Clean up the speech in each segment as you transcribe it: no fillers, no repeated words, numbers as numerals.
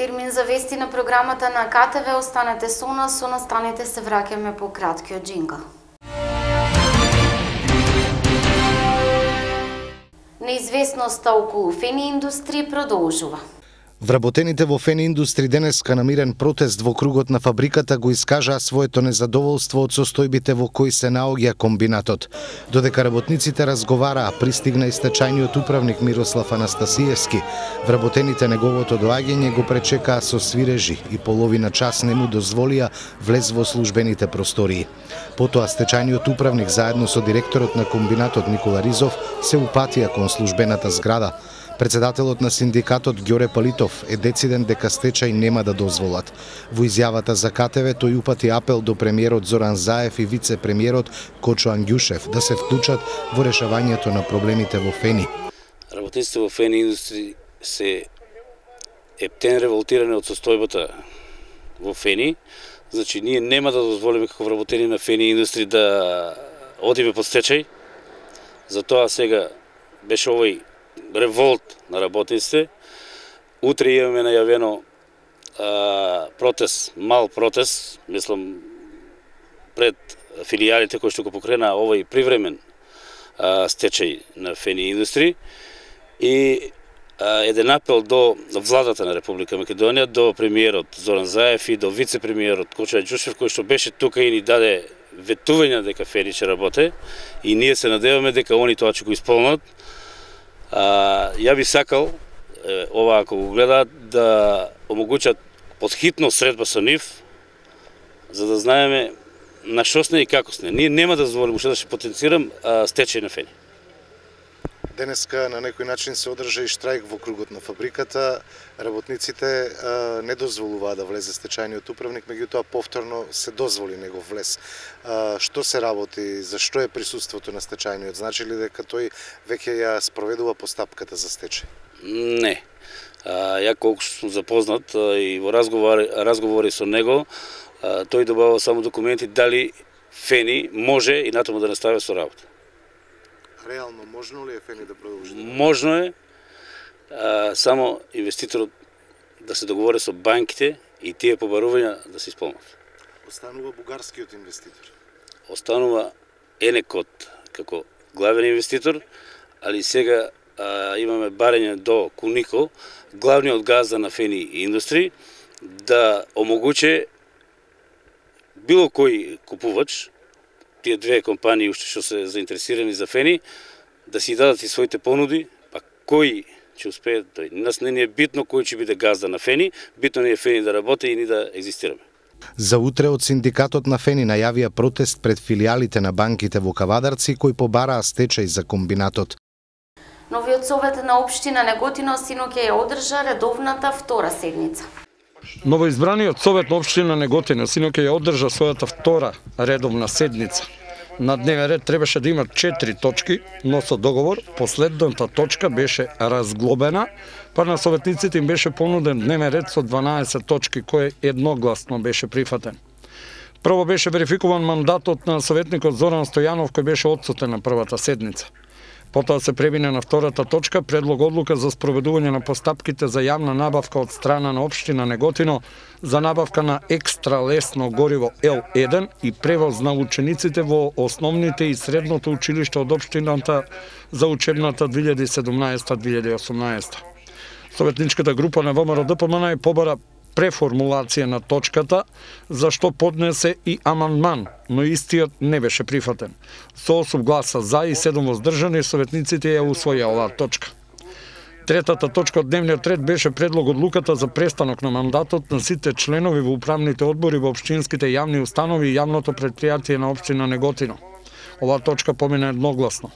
Термин за вести на програмата на КТВ. Останете со нас, со настаните се враќаме по краткиот џингл. Неизвестноста околу Фени Индустри продолжува. Вработените во Фени Индустри денеска на мирен протест во кругот на фабриката го искажаа своето незадоволство од состојбите во кои се наоѓа комбинатот. Додека работниците разговараа, пристигна и стечајниот управник Мирослав Анастасиевски. Вработените неговото доаѓање го пречекаа со свирежи и половина час не му дозволија влез во службените простории. Потоа стечајниот управник заедно со директорот на комбинатот Никола Ризов се упатија кон службената зграда. Председателот на синдикатот Ѓоре Палитов е дециден дека стечај нема да дозволат. Во изјавата за КТВ тој упати апел до премиерот Зоран Заев и вице-премиерот Кочо Ангјушев да се вклучат во решавањето на проблемите во Фени. Работниците во Фени Индустри се ептен револтирани од состојбата во Фени. Значи, ние нема да дозволиме како вработени на Фени Индустри да одиме под стечај. Затоа сега беше овој револт на работниците. Утре имаме најавено протест, мал протест, мислам, пред филијалите кои што го покрена овој привремен стечај на Фени Индустри и еден апел до владата на Република Македонија, до премиерот Зоран Заев и до вице-премиерот Кочо Ангјушев, кој што беше тука и ни даде ветување дека Фени ќе работи и ние се надеваме дека они тоа ќе го исполнат. Ја би сакал, ова ако го гледаат, да омогучат подхитно средба со нив, за да знаеме на што сме и како сме. Ние нема да дозволиме, уште да ќе потенцирам, стечај на Фени. Денеска на некој начин се одржа и штрајк во кругот на фабриката. Работниците не дозволуваа да влезе стечајниот управник, меѓутоа повторно се дозволи негов влез. Што се работи, зашто е присуството на стечајниот? Значи ли дека тој веќе ја спроведува постапката за стечај? Не. Ја колку сум запознат и во разговори со него, тој добава само документи дали Фени може и натаму да настави со работа. Реално можно ли е Фени да продолжи? Можно е, само инвеститорот да се договори со банките и тие побарувања да се исполнат. Останува бугарскиот инвеститор? Останува Енекот како главен инвеститор, али сега имаме барање до Кунико, главниот газда на Фени Индустри, да омогуче било кој купувач, тие две компании уште што се заинтересирани за Фени, да си дадат и своите понуди, па кој ќе успее, тој нас не е битно кој ќе биде газда на Фени, битно не е Фени да работи и ни да екзистираме. За утре од синдикатот на Фени најавија протест пред филијалите на банките во Кавадарци кои побараа стечај за комбинатот. Новиот совет на општина Неготино синоќа ја одржа редовната втора седница. Новоизбраниот совет на општина Неготино синоќа ја одржа својата втора редовна седница. На дневен ред требаше да има 4 точки, но со договор последната точка беше разглобена, па на советниците им беше понуден дневен ред со 12 точки, кој едногласно беше прифатен. Прво беше верификуван мандатот на советникот Зоран Стојанов, кој беше отсутен на првата седница. Потоа се премине на втората точка, предлог одлука за спроведување на постапките за јавна набавка од страна на општина Неготино за набавка на екстра лесно гориво L1 и превоз на учениците во основните и средното училиште од општината за учебната 2017-2018. Советничката група на ВМРО-ДПМН побара преформулација на точката, за што поднесе и амандман, но истиот не беше прифатен. Со 8 гласа за и 7 воздржани, советниците ја усвоја оваа точка. Третата точка од дневниот ред беше предлог одлуката за престанок на мандатот на сите членови во управните одбори во општинските јавни установи и јавното претпријатие на општина Неготино. Оваа точка помина едногласно.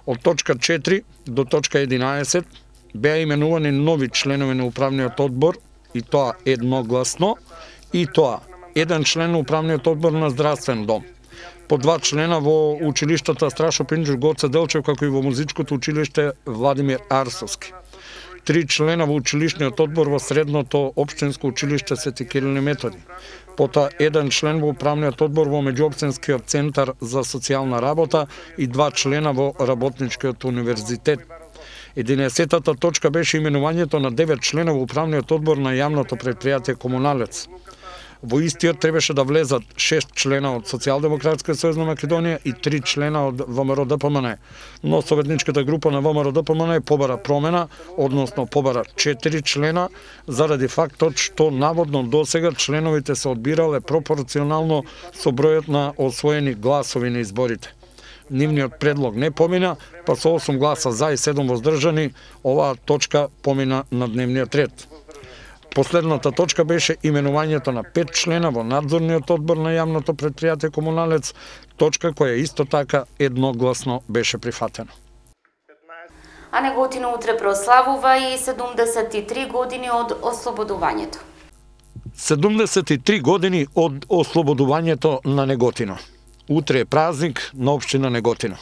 Од точка 4 до точка 11 беа именувани нови членови на управниот одбор, и тоа едногласно, и тоа еден член на управниот одбор на здравствен дом, по 2 члена во училиштата Страшо Пинџур Гоце Делчев, како и во музичкото училиште Владимир Арсовски. 3 члена во училишниот одбор во средното општинско училиште Свети Кирил и Методи. Потоа еден член во управниот одбор во меѓуопштинскиот центар за социјална работа и 2 члена во работничкиот универзитет. 11-та точка беше именувањето на 9 члена во управниот одбор на јавното предпријатие Комуналец. Во истиот требаше да влезат 6 члена од Социјалдемократска сојуз на Македонија и 3 члена од ВМРО ДПМН, но советничката група на ВМРО ДПМН побара промена, односно побара 4 члена, заради фактот што наводно досега членовите се одбирале пропорционално со бројот на освоени гласови на изборите. Нивниот предлог не помина, па со 8 гласа за и 7 воздржани, оваа точка помина на дневниот ред. Последната точка беше именувањето на 5 члена во надзорниот одбор на јавното предпријатие Комуналец, точка која исто така едногласно беше прифатена. А Неготино утре прославува и 73 години од ослободувањето. 73 години од ослободувањето на Неготино. Утре е празник на општина Неготино.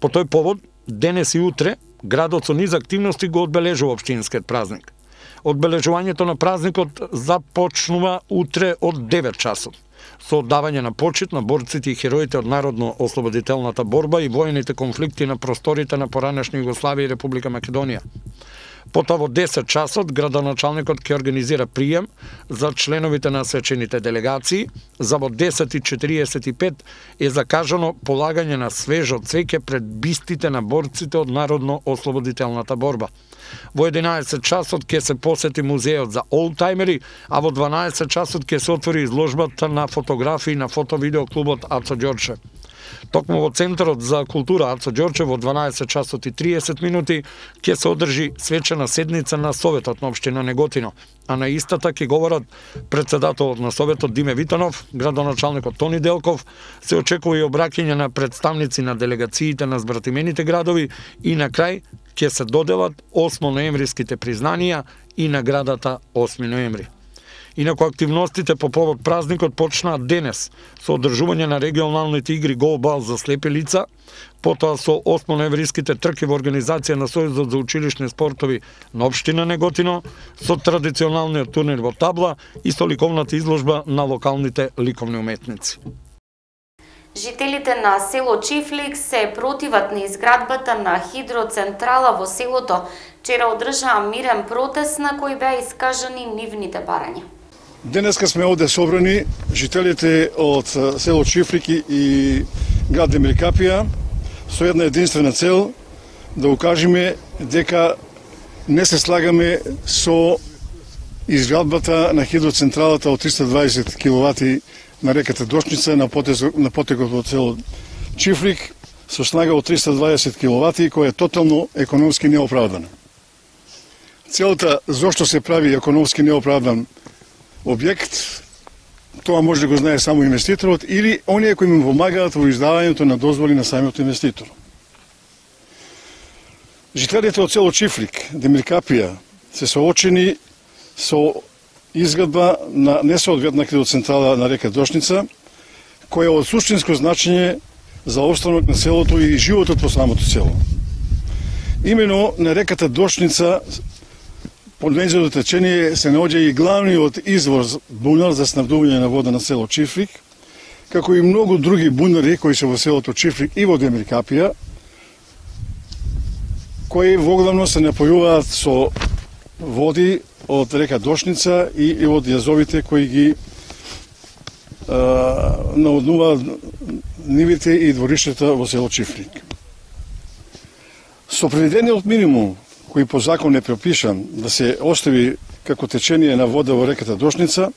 По тој повод, денес и утре, градот со низ активности го одбележува општинскиот празник. Одбележувањето на празникот започнува утре од 9 часот, со оддавање на почит на борците и хероите од народно-ослободителната борба и воените конфликти на просторите на поранешна Југославија и Република Македонија. Потоа во 10 часот градоначалникот ќе организира прием за членовите на свечените делегации. За во 10:45 е закажано полагање на свежо цвеќе пред бистите на борците од народно-ослободителната борба. Во 11 часот ќе се посети музејот за олдтаймери, а во 12 часот ќе се отвори изложбата на фотографии на фото-видео клубот Ацо Ѓорче. Токму во Центарот за култура Ацо Ѓорче во 12 часот и 30 минути ќе се одржи свечена седница на Советот на општина Неготино, а на истата ќе говорат председателот на Советот Диме Витанов, градоначалникот Тони Делков, се очекува и обраќање на представници на делегациите на збратимените градови и на крај ќе се доделат 8 ноемвриските признанија и наградата 8 ноември. Инаку активностите по повод празникот почнаа денес со одржување на регионалните игри голбал за слепи лица, потоа со 8 ноемвриските трки во организација на Сојузот за училишни спортови на општина Неготино, со традиционалниот турнир во табла и со ликовната изложба на локалните ликовни уметници. Жителите на село Чифлик се противат на изградбата на хидроцентрала во селото. Вчера одржаа мирен протест на кој беа искажани нивните барања. Денеска сме овде собрани жителите од село Чифлик и град Демиркапија со една единствена цел да укажеме дека не се слагаме со изградбата на хидроцентралата од 320 киловати на реката Дошница на потекот од село Чифлик со снага од 320 киловати која е тотално економски неоправдана. Целта зошто се прави економски неоправдан објект, тоа може да го знае само инвеститорот или оние кои му помагаат во издавањето на дозволи на самиот инвеститор. Жителите од село Чифлик, Демиркапија, се соочени со изградба на несоодветна хидроцентрала на река Дошница, која е од суштинско значење за опстанок на селото и животот по самото село. Имено на реката Дошница под нејзиното течение се наоѓа и главниот извор бунар за снабдување на вода на село Чифлик, како и многу други бунари кои се во селото Чифлик и во Демиркапија, кои воглавно се напојуваат со води од река Дошница и од јазовите кои ги наводнуваат нивите и двориштата во село Чифлик. Со предвидениот минимум кој по закон е пропишан да се остави како течение на вода во реката Дошница,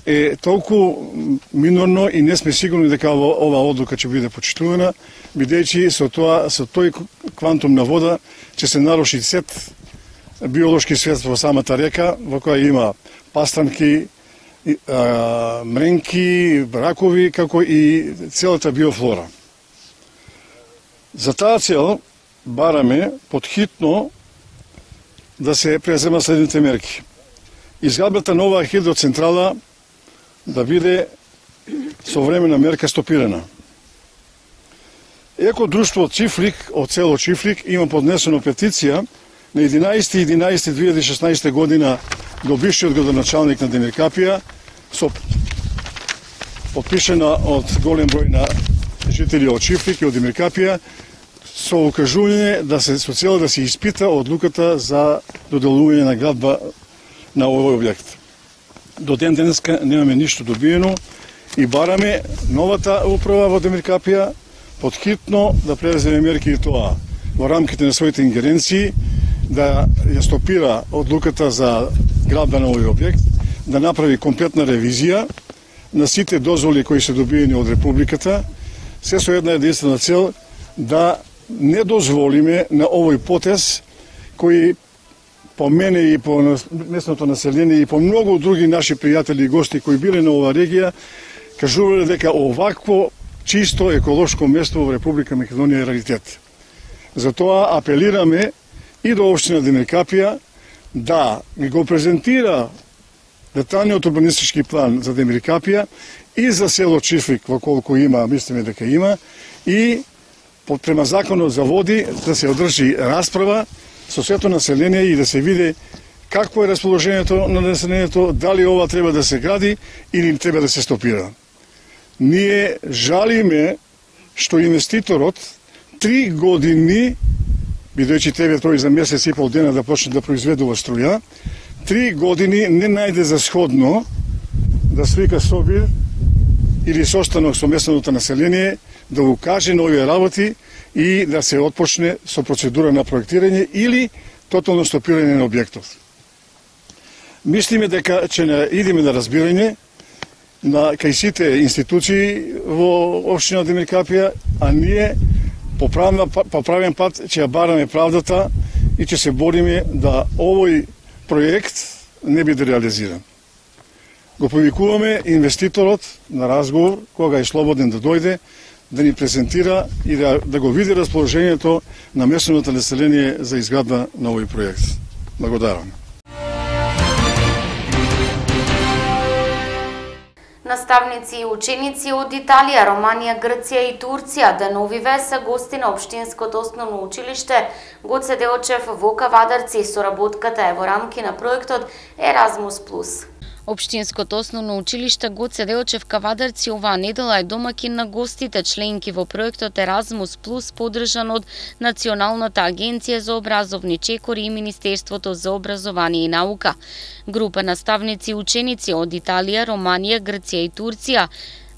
е толку минорно и не сме сигурни дека ова одлука ќе биде почитувана, бидејќи со тој квантум на вода ќе се наруши сет биолошки свет во самата река, во која има пастранки, мренки, ракови, како и целата биофлора. За таа цел бараме подхитно да се презема следните мерки. Изградбата на оваа хидроцентрала да биде со времена мерка стопирана. Еко друштво Чифлик од село Чифлик има поднесено петиција на 11.11.2016 година до бившиот градоначалник на Демиркапија, подпишена од голем број на жители од Чифлик и од Демиркапија, со укажување со цел да се испита одлуката за доделување на градба на овој објект. До ден денеска немаме ништо добиено и бараме новата управа во Демиркапија подхитно да преземе мерки и тоа во рамките на своите ингеренции да ја стопира одлуката за градба на овој објект, да направи комплетна ревизија на сите дозволи кои се добиени од Републиката, се со една единствена цел да не дозволиме на овој потез кој по мене и по местното население и по многу други наши пријатели и гости кои биле на оваа регија кажувале дека овакво чисто еколошко место во Република Македонија е раритет. Затоа апелираме и до општина Демиркапија да го презентира деталниот урбанистички план за Демиркапија и за село Чифлик, во колку има, мислиме дека има, и према законот за води да се одржи расправа со сето население и да се види какво е расположението на населението, дали ова треба да се гради или треба да се стопира. Ние жалиме што инвеститорот 3 години, бидејќи тебе тој за месец и пол дена да почне да произведува струја, 3 години не најде за сходно да свика собир или состанок со местното население, да укаже на овие работи и да се отпочне со процедура на проектирање или тотално стопирање на објектот. Мислиме дека ќе идеме на разбирање на кај сите институции во општина Демиркапија, а ние по правен пат ќе ја бараме правдата и ќе се бориме да овој проект не биде реализиран. Го повикуваме инвеститорот на разговор, кога е слободен да дојде, да ни презентира и да го види расположението на местното население за изградба на овој проект. Благодарам. Наставници и ученици од Италија, Романија, Грција и Турција деновиве се гости на Општинското основно училиште Гоце Делчев во Кавадарци. Соработката е во рамки на проектот Еразмус Плюс. Општинското основно училиште Гоце Делчев Кавадарци оваа недела е домакин на гостите членки во проектот Еразмус Плюс, поддржан од Националната агенција за образовни чекори и Министерството за образование и наука. Група наставници и ученици од Италија, Романија, Грција и Турција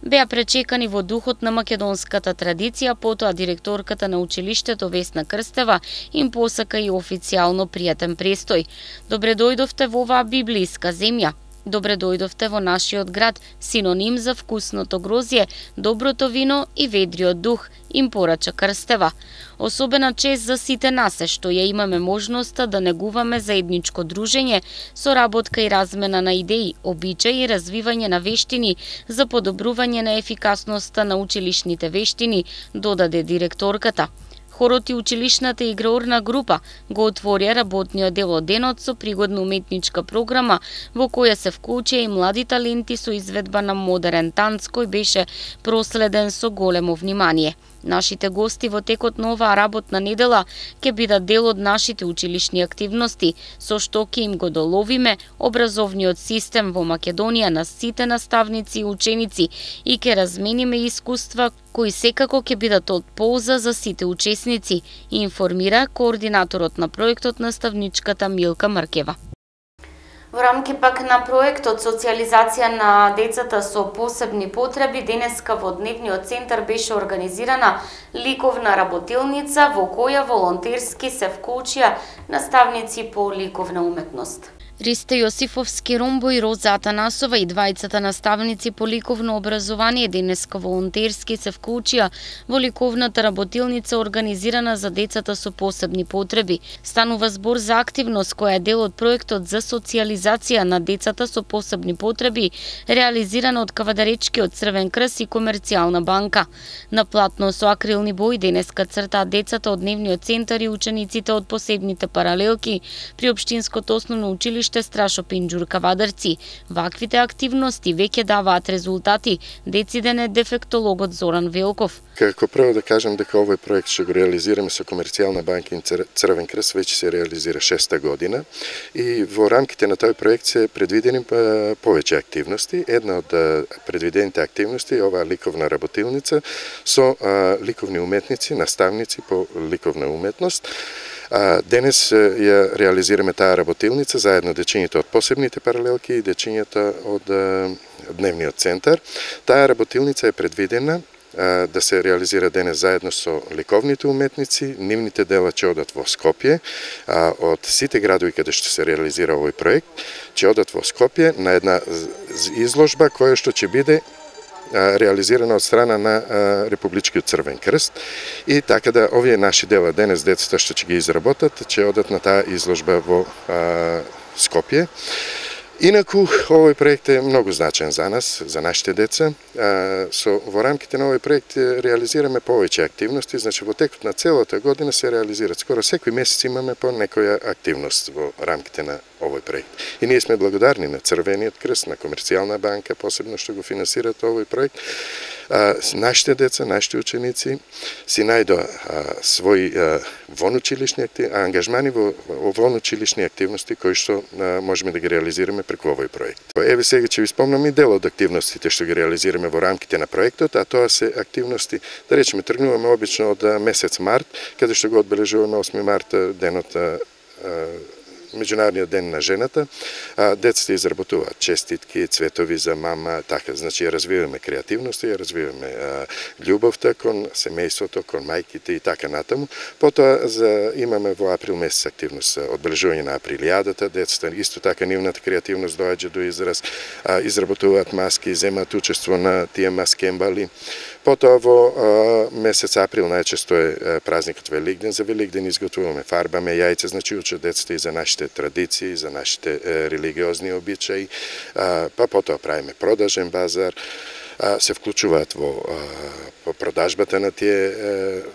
беа пречекани во духот на македонската традиција, потоа директорката на училиштето Весна Крстева им посака и официјално пријатен престој. Добре дојдовте во оваа библиска земја. Добре дојдовте во нашиот град, синоним за вкусното грозје, доброто вино и ведриот дух, им порача Крстева. Особена чест за сите нас е што ја имаме можноста да негуваме заедничко дружење, соработка и размена на идеи, обичаи и развивање на вештини за подобрување на ефикасноста на училишните вештини, додаде директорката. Хорот и училишната играорна група го отворија работниот дел од денот со пригодна уметничка програма во која се вклучија и млади таленти со изведба на модерен танц кој беше проследен со големо внимание. Нашите гости во текот на оваа работна недела ќе бидат дел од нашите училишни активности, со што ќе им го доловиме образовниот систем во Македонија на сите наставници и ученици и ќе размениме искуства кои секако ќе бидат од полза за сите учесници, информира координаторот на проектот наставничката Милка Маркева. Во рамки пак на проектот социализација на децата со посебни потреби, денеска во дневниот центар беше организирана ликовна работилница во која волонтерски се вклучија наставници по ликовна уметност. Ристе Јосифовски Ромбо и Роза Атанасова и двајцата наставници по ликовно образование денеска волонтерски се вклучија во ликовната работилница организирана за децата со посебни потреби. Станува збор за активност која е дел од проектот за социализација на децата со посебни потреби, реализирана од Кавадаречкиот Црвен крст и Комерцијална банка. На платно со акрилни бои денеска цртаат децата од дневниот центар и учениците од посебните паралелки при Општинското основно училиште уште страшо Пинџур Кавадарци. Ваквите активности веќе даваат резултати, дециден е дефектологот Зоран Велков. Како прво да кажем дека овој проект што го реализираме со Комерцијална банка и Црвен крст веќе се реализира 6-та година и во рамките на тој проект се предвидени повеќе активности. Една од предвидените активности е оваа ликовна работилница со ликовни уметници, наставници по ликовна уметност. Денес ја реализираме таа работилница заедно дечињата од посебните паралелки и дечињата од дневниот центар. Таа работилница е предвидена да се реализира денес заедно со ликовните уметници. Нивните дела ќе одат во Скопје, од сите градови каде што се реализира овој проект, ќе одат во Скопје на една изложба која што ќе биде реализирана од страна на Републичкиот Црвен крст и така да овие наши дела денес децата што ќе ги изработат ќе одат на таа изложба во Скопје. Инаку, овој проект е многу значен за нас, за нашите деца. Во рамките на овој проект реализираме повеќе активности, значи во текот на целата година се реализираат. Скоро секој месец имаме по некоја активност во рамките на овој проект. И ние сме благодарни на Црвениот крст, на Комерцијална банка, посебно што го финансираат овој проект. Нашите деца, нашите ученици си најдоа своји вонучилишни ангажмани во вонучилишни активности кои што можеме да ги реализираме преку овој проект. Еве сега ќе ви спомнам и дел од активностите што ги реализираме во рамките на проектот, а тоа се активности, да речеме, тргнуваме обично од месец март, каде што го одбележуваме 8 март, денот Меѓународниот ден на жената. Децата изработуваат честитки, цветови за мама, така, значи ја развиваме креативноста, ја развиваме љубовта кон семејството, кон мајките и така натаму. Потоа имаме во април месец активност одбележување на априлијадата, децата исто така нивната креативност доаѓа до израз, изработуваат маски, земаат учество на тие маскембали. Потоа во месец април најчесто е празникот Великден. За Великден изготвуваме, фарбаме јајца, значи учат децата и за нашите традиции, за нашите религиозни обичаи. Па потоа правиме продажен базар, се вклучуваат во продажбата на тие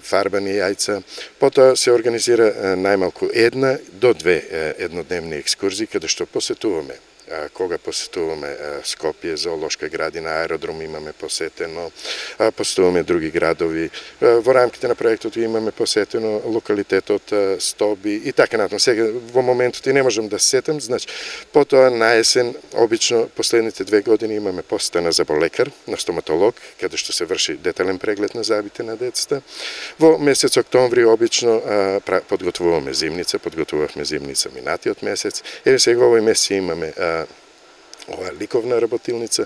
фарбани јајца. Потоа се организира најмалку 1 до 2 еднодневни екскурзии каде што посетуваме. Кога посетуваме Скопје, зоолошка градина, аеродром имаме посетено, посетуваме други градови. Во рамките на проектот имаме посетено локалитетот Стоби и така натаму. Сега во моментот и не можам да се сетам, значи потоа на есен обично последните 2 години имаме посета на заболекар, на стоматолог, каде што се врши детален преглед на зъбите на децата. Во месец октомври обично подготвуваме зимница минатиот месец. Еве сега овој месец имаме ова ликовна работилница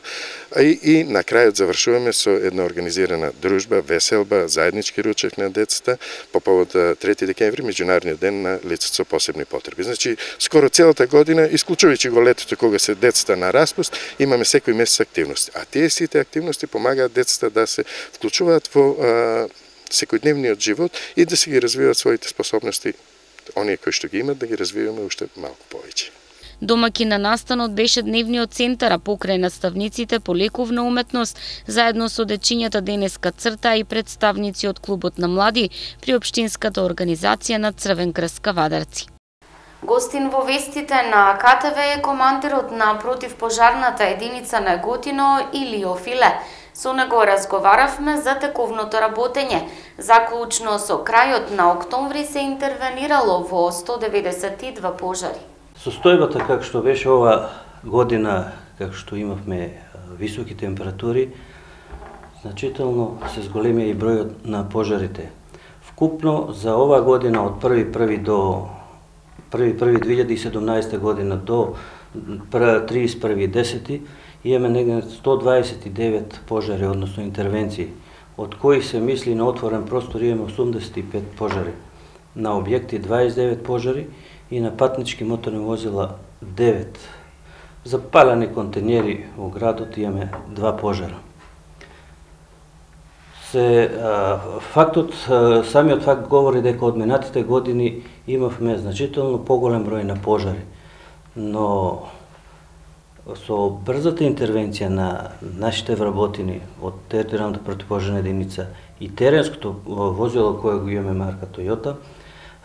и на крајот завршуваме со една организирана дружба, веселба, заеднички ручек на децата по повод 3 декември, Меѓународниот ден на лицата со посебни потреби. Значи, скоро целата година, исклучувајќи го летото кога се децата на распуст, имаме секој месец активности. А тие сите активности помагаат децата да се вклучуваат во секојдневниот живот и да се ги развиваат своите способности, оние кои што ги имат, да ги развиваме уште малку повеќе. Домаќин на настанот беше дневниот центар, а покрај наставниците по лековна уметност, заедно со дечињата денеска црта и представници од клубот на млади при општинската организација на Црвен крст Кавадарци. Гостин во вестите на КТВ е командирот на противпожарната единица на Готино Илио Филе. Со него разговаравме за тековното работење. Заклучно со крајот на октомври се интервенирало во 192 пожари. Состојбата како што беше ова година, како што имавме високи температури, значително се зголемија и бројот на пожарите. Вкупно за ова година од 1.1.2017 година до 31.10 имаме негде 129 пожари, односно интервенции, од кои се мисли на отворен простор имаме 85 пожари, на објекти 29 пожари и на патнички моторни возила 9. За палени контенери во градот имаме 2 пожара. Самиот факт говори дека од минатите години имавме значително поголем број на пожари, но со брзата интервенција на нашите вработени од територијалната противпожарна единица и теренското возило кое го имаме марка Toyota,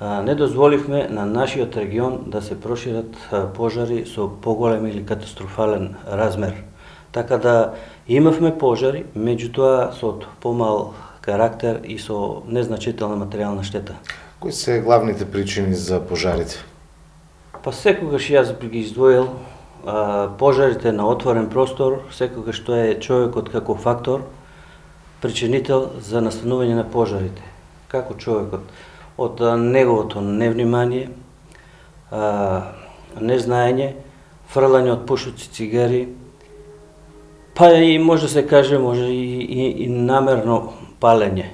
не дозволивме на нашиот регион да се прошират пожари со поголем или катастрофален размер. Така да имавме пожари, меѓутоа со помал карактер и со незначителна материјална штета. Кои се главните причини за пожарите? Па секогаш јас би ги издвоил пожарите на отворен простор, секогаш тоа е човекот како фактор, причинител за настанување на пожарите. Како човекот, од неговото невнимание, незнаење, фрлање од пушоци цигари, па и може да се каже, може и намерно палење.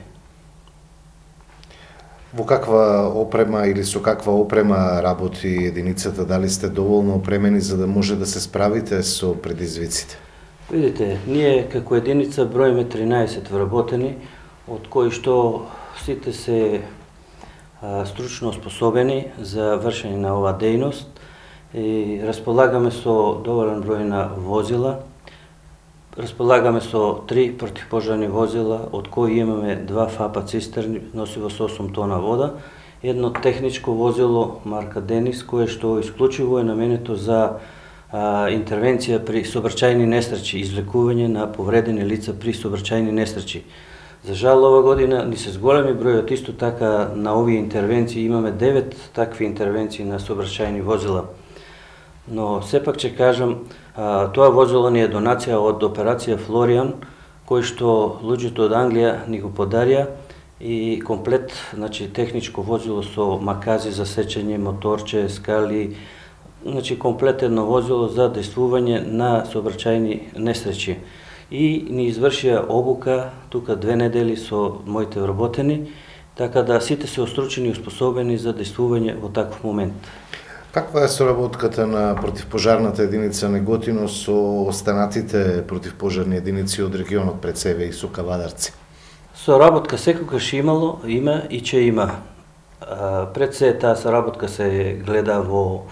Во каква опрема или со каква опрема работи единицата? Дали сте доволно опремени за да може да се справите со предизвиците? Видите, ние како единица броиме 13 вработени, од кои што сите се стручно оспособени за вршење на оваа дејност и располагаме со доволен број на возила. Располагаме со 3 противпожарни возила, од кои имаме 2 ФАПа цистерни, носиво со 8 тона вода, едно техничко возило марка Денис, кое што исклучиво е наменето за интервенција при сообраќајни несреќи, извлекување на повредени лица при сообраќајни несреќи. За жал, ова година ни се зголеми бројот, исто така на овие интервенции имаме 9 такви интервенции на сообраќајни возила. Но сепак ќе кажам, тоа возило ни е донација од операција Флориан, кој што луѓето од Англија ни го подарија и комплет, значи техничко возило со макази за сечење, моторче, скали, значи комплет едно возило за дејствување на сообраќајни несреќи. И ни извршија обука тука 2 недели со моите вработени, така да сите се остручени и успособени за дејствување во таков момент. Каква е соработката на противпожарната единица Неготино со останатите противпожарни единици од регионот пред себе и со Кавадарци? Соработка секогаш имало, има и ќе има. Пред се таа соработка се гледа во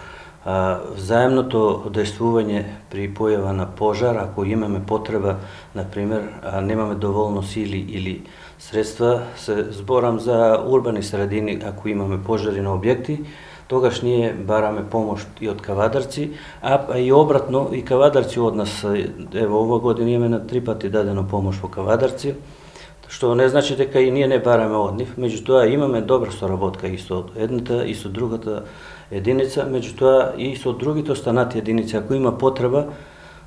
взаемното дејствување при појава на пожар, ако имаме потреба, например, немаме доволно сили или средства, се зборам за урбани средини, ако имаме пожари на објекти, тогаш ние бараме помош и од Кавадарци, а и обратно, и Кавадарци од нас, ево ова година имаме на 3 пати дадено помош во Кавадарци, што не значи дека и ние не бараме од нив, меѓутоа имаме добра соработка и со едната и со другата единица, меѓутоа и со другите останати единици, ако има потреба,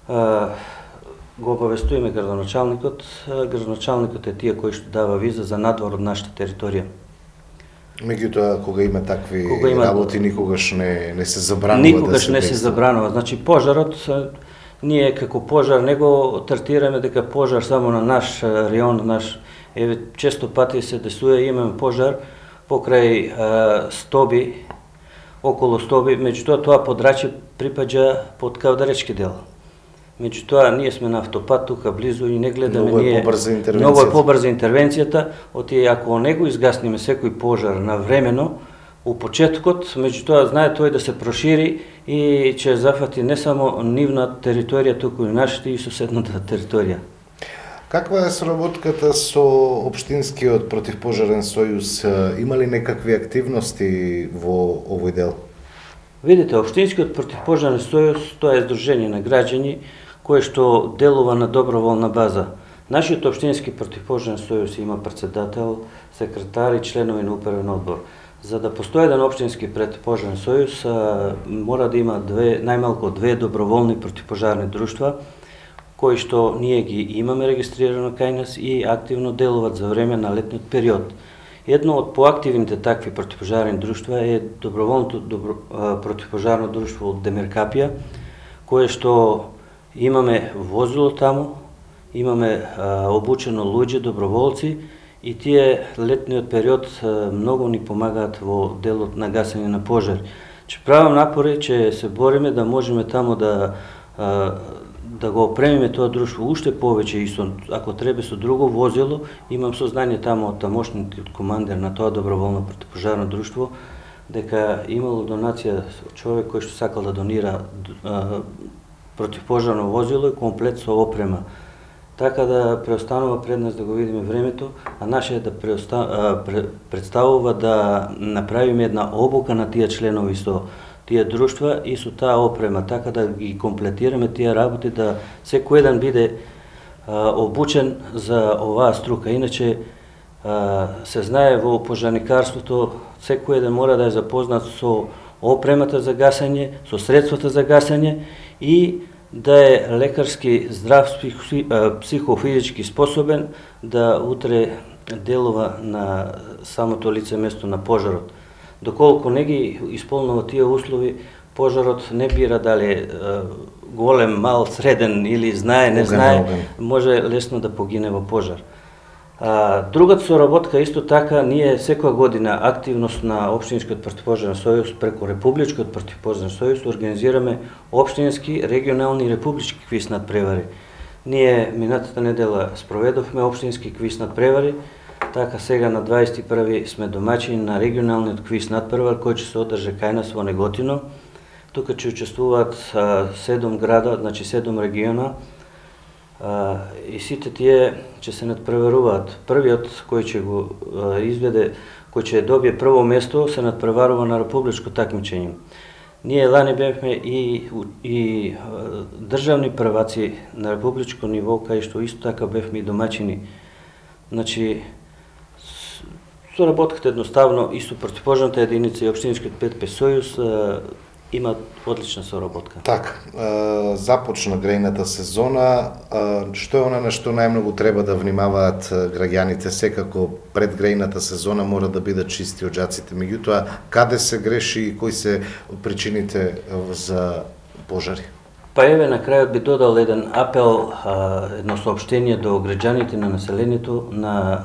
го обавестуваме градоначалникот. Градоначалникот е тие кој што дава виза за надвор од нашата територија. Меѓутоа, кога има такви работи, никогаш не се забранува никогаш не се забранува. Значи, пожарот, ние како пожар не го третираме дека пожар само на наш район, често пати се десува, имаме пожар покрај Стоби, околу Стоби, меѓутоа тоа подрачје припаѓа под Кавдаречки дел. Меѓутоа, ние сме на автопат тука близу и не гледаме ние... Многу е побрза интервенцијата, оти ако не го изгасниме секој пожар навремено, у почеткот, меѓутоа знае тој да се прошири и ќе зафати не само нивна територија, туку и нашата и соседната територија. Каква е соработката со Општинскиот противпожарен сојуз? Има ли некакви активности во овој дел? Видите, Општинскиот противпожарен сојуз, тоа е здружение на граѓани кое што делува на доброволна база. Нашиот Општински противпожарен сојуз има председател, секретар и членови на управен одбор. За да постои еден Општински противпожарен сојуз, мора да има најмалку 2 доброволни противпожарни друштва, кои што ние ги имаме регистрирано кај нас и активно делуваат за време на летниот период. Едно од поактивните такви противпожарни друштва е доброволното противпожарно друштво од Демиркапија, кое што имаме возило таму, имаме обучено луѓе, доброволци и тие летниот период многу ни помагаат во делот на гасење на пожари. Че правам напори, че се бориме да можеме таму да го опремиме тоа друштво уште повеќе и ако треба со друго возило, имам сознание таму од тамошниот командир на тоа доброволно противпожарно друштво, дека имало донација човек кој што сакал да донира противпожарно возило и комплет со опрема. така да преостанува пред нас да го видиме времето, а наше е да представува да направиме една обука на тие членови со тие друштва и со таа опрема, така да ги комплетираме тие работи, да секој еден биде обучен за оваа струка. Иначе се знае во пожарникарството, секој еден мора да е запознат со опремата за гасење, со средствата за гасење и да е лекарски здрав, психофизички способен да утре делува на самото лице место на пожарот. Доколку не ги исполнува тие услови, пожарот не бира дали голем, мал, среден или знае, не знае, може лесно да погине во пожар. Другата соработка исто така, ние секоја година активност на Општинскиот противпожарен сојуз преку Републичкиот противпожарен сојуз организираме општински, регионални и републички квиз надпревари. Ние минатата недела спроведовме општински квиз надпревари, така сега на 21 сме домаќини на регионалниот квиз надпревар кој ќе се одржа кај нас во Неготино. Тука ќе учествуваат 7 града, значи 7 региона, и сите тие ќе се надпреваруваат. Првиот кој ќе го изведе, кој ќе добие прво место, се надпреварува на републичко такмичење. Ние лани бевме и државни прваци на републичко ниво, кај што исто така бевме и домаќини. Значи, соработката едноставно и со противпожарната единица и Општинскиот ПТП сојуз има одлична соработка. Така, започна грејната сезона. Што е она на што најмногу треба да внимаваат граѓаните? Секако пред грејната сезона мора да бидат чисти оџаците. Меѓутоа, каде се греши и кои се причините за пожари? Па еве на крајот би додал еден апел, едно соопштение до граѓаните на населението на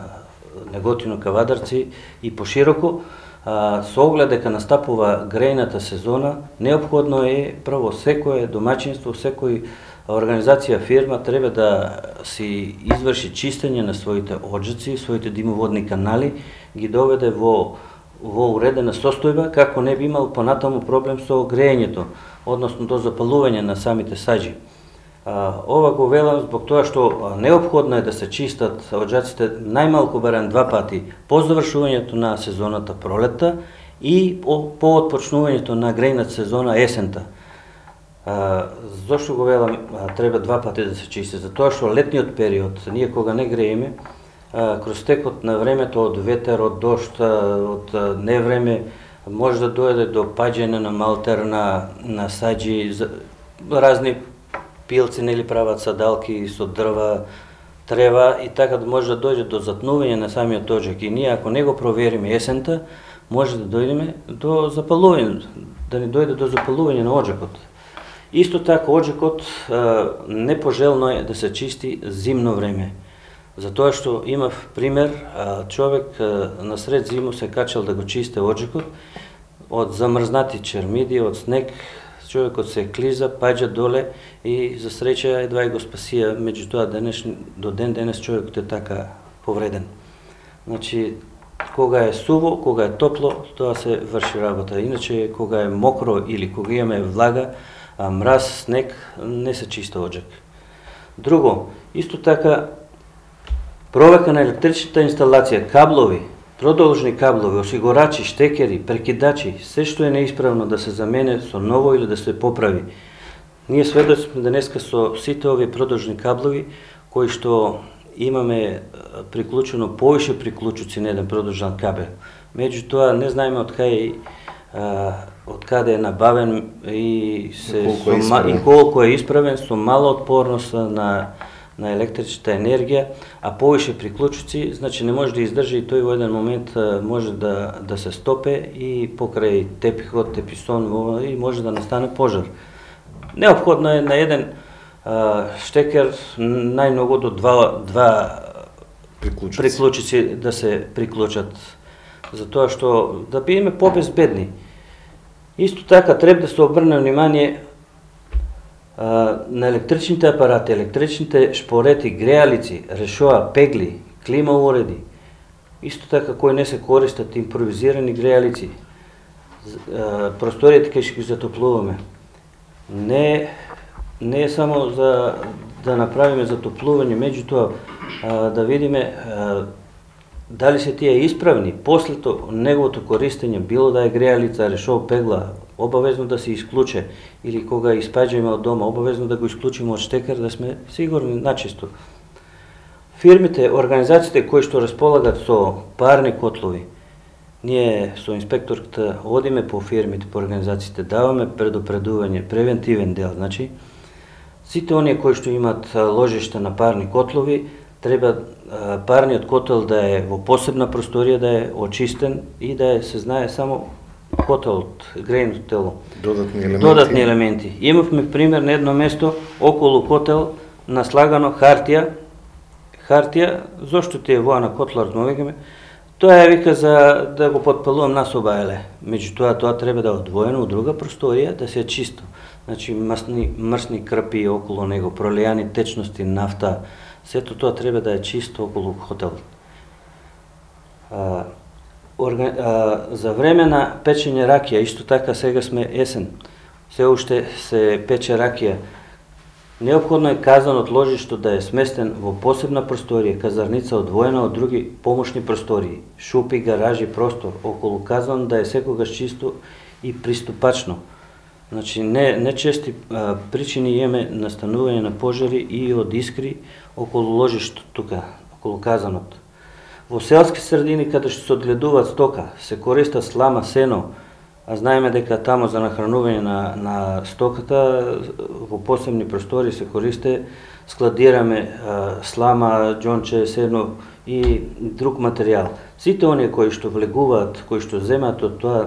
Неготино, Кавадарци и пошироко. Со оглед дека настапува грејната сезона, неопходно е прво секое домаќинство, секој организација, фирма треба да си изврши чистење на своите оџаци, своите димоводни канали, ги доведе во уредена состојба, како не би имал понатаму проблем со грејењето, односно до запалување на самите саџи. Ова го велам због тоа што неопходно е да се чистат оџаците најмалку барем 2 пати по завршувањето на сезоната пролетта и по отпочнувањето на грејната сезона есента. Зошто го велам треба 2 пати да се чисти? Затоа што летниот период, ние кога не грееме, кроз текот на времето од ветер, од дожд, од невреме, може да дојде до паѓање на малтер, на саџи, разни пилци нели прават садалки со дрва, трева и така може да дојде до затнување на самиот оџак. И ние ако не го провериме есента, може да дојдеме до запалување, да не дојде до запалување на оџакот. Исто така оџакот непожелно е да се чисти зимно време. Затоа што имав пример, човек насред зиму се качал да го чисте оџакот, од замрзнати чермиди, од снег, човекот се клиза, паѓа доле и за среќа едва и го спасија, меѓутоа до ден денес човекот е така повреден. Значи, кога е суво, кога е топло, тоа се врши работа. Иначе, кога е мокро или кога имаме влага, мраз, снег, не се чисти оџак. Друго, исто така, проверка на електричната инсталација, каблови, продолжни каблови, осигурачи, штекери, прекидачи, се што е неисправно да се замене со ново или да се поправи. Ние сведоци сме денеска со сите овие продолжни каблови, кои што имаме приклучено повише приклучуци на еден продолжен кабел. Меѓутоа не знаеме од каде е набавен и колку е исправен, со мала отпорност на електричната енергија, а повише приклучуци, значи не може да издржи и тој во еден момент може да се стопе и покрај тепихот, теписон и може да настане пожар. Неопходно е на еден штекер најмногу до два приклучици да се приклучат, затоа што да бидеме побезбедни. Исто така треба да се обрне внимание на електричните апарати, електричните шпорети, греалици, решоа, пегли, клима уреди. Исто така кои не се користат импровизирани греалици, просториите кај што ги затоплуваме. Не е само за да направиме затоплување, меѓутоа да видиме дали се тие исправни, после неговото користење, било да е греалица, решол, пегла, обавезно да се исклуче, или кога испаѓаме од дома, обавезно да го исклучиме од штекер, да сме сигурни начисто. Фирмите, организациите кои што располагат со парни котлови, ние со инспекторката одиме по фирмите, по организациите, даваме предупредување, превентивен дел, значи, сите оние кои што имаат ложишта на парни котлови, треба парниот котел да е во посебна просторија, да е очистен и да се знае само котелот, грејното тело. Додатни елементи. Имавме пример на едно место, околу котел, наслагано хартија, зошто ти е воа на котлар, новегаме, тоа е вика за да го подпалувам на собајле. Меѓутоа, тоа треба да е одвоено од друга просторија, да се е чисто. Значи, мрсни крпи околу него, пролејани течности, нафта, сето тоа треба да е чисто околу хотелот. За време на печење ракија, исто така сега сме есен, се уште се пече ракија. Неопходно е казанот ложишто да е сместен во посебна просторија, казарница одвоена од други помошни простории, шупи, гаражи, простор, околу казан да е секогаш чисто и приступачно. Значи, не чести причини имаме настанување на пожари и од искри околу ложишто тука, околу казанот. Во селски средини, каде што се одгледуваат стока, се користа слама, сено, а знаеме дека тамо за нахранување на стоката во посебни простори се користе, складираме слама, џонче, сено и друг материјал. Сите оние кои што влегуваат, кои што земаат од тоа,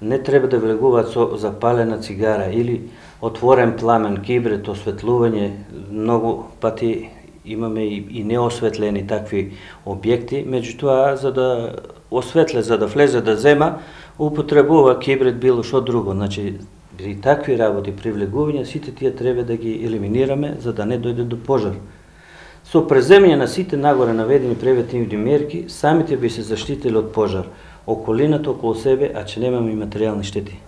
не треба да влегуваат со запалена цигара или отворен пламен, кибрет, осветлување. Многу пати имаме и неосветлени такви објекти, меѓутоа за да осветле, за да влезе да зема, употребува кибрет било што друго. Значи, при такви работи, при влегување, сите тие треба да ги елиминираме за да не дојде до пожар. Со преземање на сите нагоре наведени превентивни мерки, самите би се заштитили од пожар, околината околу себе, а че немаме и материјални штети.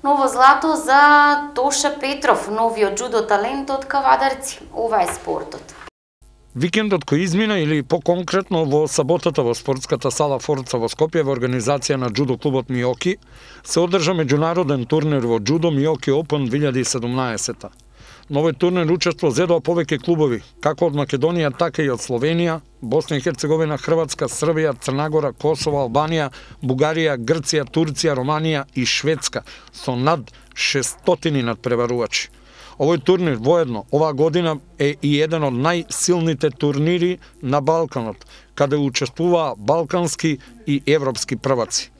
Ново злато за Тоша Петров, новиот џудо талент од Кавадарци. Ова е спортот. Викендот кој измина или по-конкретно во саботата во спортската сала Форца во Скопје во организација на џудо клубот Миоки се одржа меѓународен турнир во џудо Миоки Open 2017. На овој турнир учество зедоа повеќе клубови, како од Македонија, така и од Словенија, Босна и Херцеговина, Хрватска, Србија, Црнагора, Косово, Албанија, Бугарија, Грција, Турција, Романија и Шведска, со над 600 надпреварувачи. Овој турнир воедно оваа година е и еден од најсилните турнири на Балканот, каде учествуваа балкански и европски прваци.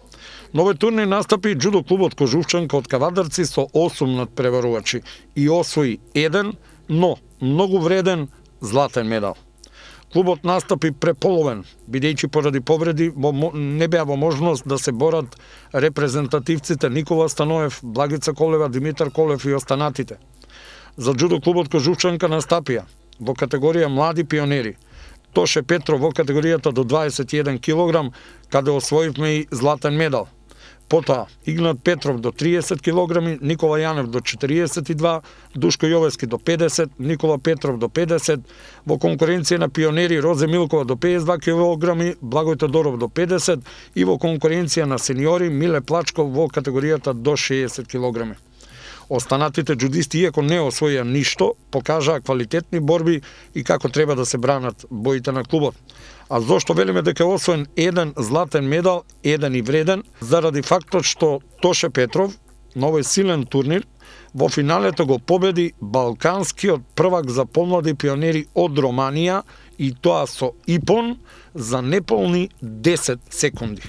На овој турнир настапи џудо клубот Кожувчанка од Кавадарци со 8 надпреварувачи и освои еден, но многу вреден златен медал. Клубот настапи преполовен, бидејќи поради повреди не беа во можност да се борат репрезентативците Никола Станоев, Благица Колева, Димитар Колев и останатите. За џудо клубот Кожувчанка настапија во категорија млади пионери Тоше Петров во категоријата до 21 кг, каде освоивме и златен медал. Потоа Игнат Петров до 30 кг, Никола Јанев до 42, Душко Јовески до 50, Никола Петров до 50, во конкуренција на пионери Розе Милкова до 52 кг, Благој Тодоров до 50 и во конкуренција на сениори Миле Плачков во категоријата до 60 кг. Останатите џудисти, иако не освоја ништо, покажаа квалитетни борби и како треба да се бранат боите на клубот. А зошто велиме дека е освоен еден златен медал, еден и вреден, заради фактот што Тоше Петров на овој силен турнир во финалето го победи балканскиот првак за помлади пионери од Романија и тоа со ипон за неполни 10 секунди.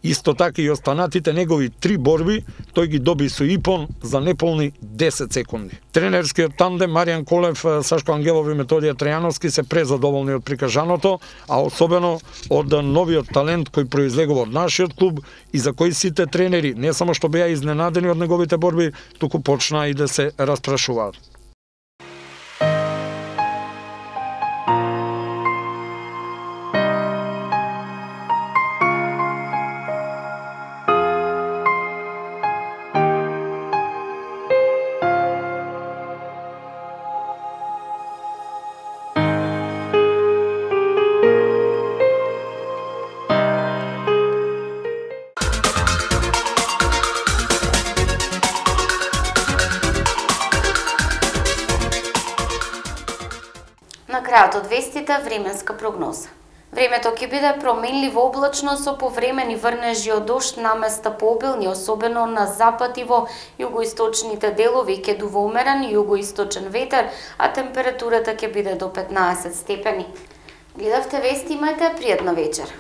Исто така и останатите негови 3 борби, тој ги доби со ипон за неполни 10 секунди. Тренерскиот тандем Маријан Колев, Сашко Ангелов и Методија Трајановски се презадоволни од прикажаното, а особено од новиот талент кој произлегува од нашиот клуб и за кој сите тренери не само што беа изненадени од неговите борби, туку почнаа и да се распрашуваат. На крајот од вестите временска прогноза. Времето ќе биде променливо облачно со повремени врнежи од дожд наместа пообилни, особено на запад и во југоисточните делови ќе дува умерен југоисточен ветер, а температурата ќе биде до 15 степени. Гледавте вести, имајте пријатна вечер.